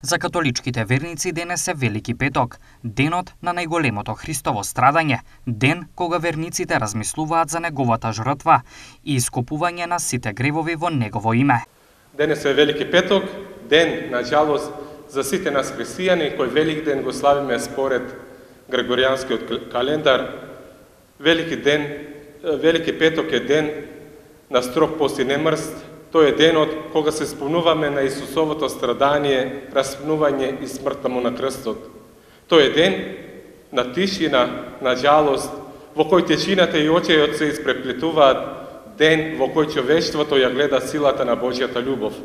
За католичките верници денес е Велики петок, денот на најголемото Христово страдање, ден кога верниците размислуваат за неговата жртва и искупување на сите гревови во негово име. Денес е Велики петок, ден, на жалост, за сите нас христијани, кој Велик ден го славиме според Григоријанскиот календар. Велики петок е ден на строг пост и немрст. Тој е денот кога се спомнуваме на Исусовото страдание, распнување и смртта му на крстот. Тој е ден на тишина, на жалост, во кој тишината и очејот се испреплетуваат, ден во кој човештвото ја гледа силата на Божјата љубов.